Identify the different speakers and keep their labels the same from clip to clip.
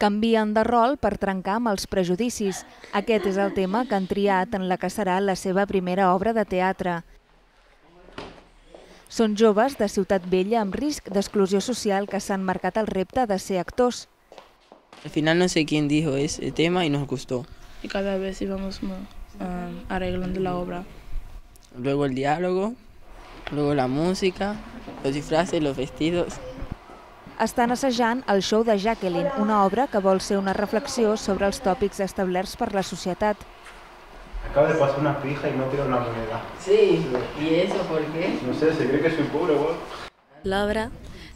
Speaker 1: Canvien de rol per trencar amb els prejudicis. Aquest és el tema que han triat en la que serà la seva primera obra de teatre. Són joves de Ciutat Vella amb risc d'exclusió social que s'han marcat el repte de ser actors.
Speaker 2: Al final no sé quién dijo ese tema y nos gustó.
Speaker 3: Y cada vez íbamos arreglando la obra.
Speaker 2: Luego el diálogo, luego la música, los disfraces, los vestidos.
Speaker 1: Estan assajant el show de Jacqueline, una obra que vol ser una reflexió sobre els tòpics establerts per la societat.
Speaker 4: Acaba de pasar una pija y no tira una moneda.
Speaker 2: Sí, ¿y eso por qué?
Speaker 4: No sé, se cree que soy pobre, güey.
Speaker 5: L'obra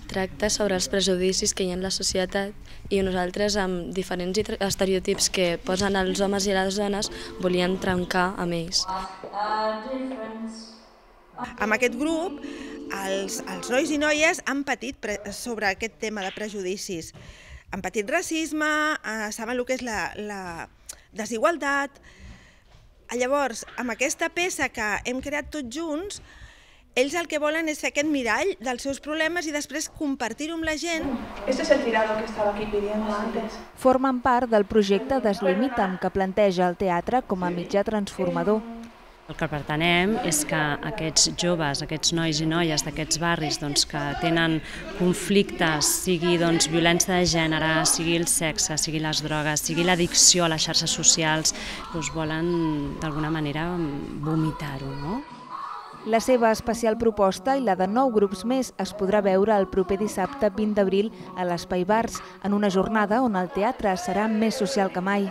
Speaker 5: tracta sobre els prejudicis que hi ha en la societat i nosaltres, amb diferents estereotips que posen els homes i les dones, volíem trencar amb ells.
Speaker 6: Amb aquest grup, els nois i noies han patit sobre aquest tema de prejudicis. Han patit racisme, saben el que és la desigualtat. Llavors, amb aquesta peça que hem creat tots junts, ells el que volen és fer aquest mirall dels seus problemes i després compartir-ho amb la gent.
Speaker 7: Este es el tirado que estaba aquí pidiendo antes.
Speaker 1: Formen part del projecte Deslimita'm, que planteja el teatre com a mitjà transformador.
Speaker 8: El que pretenem és que aquests joves, aquests nois i noies d'aquests barris que tenen conflictes, sigui violència de gènere, sigui el sexe, sigui les drogues, sigui l'addicció a les xarxes socials, volen d'alguna manera vomitar-ho, no?
Speaker 1: La seva especial proposta i la de 9 grups més es podrà veure el proper dissabte 20 d'abril a l'Espai Bars, en una jornada on el teatre serà més social que mai.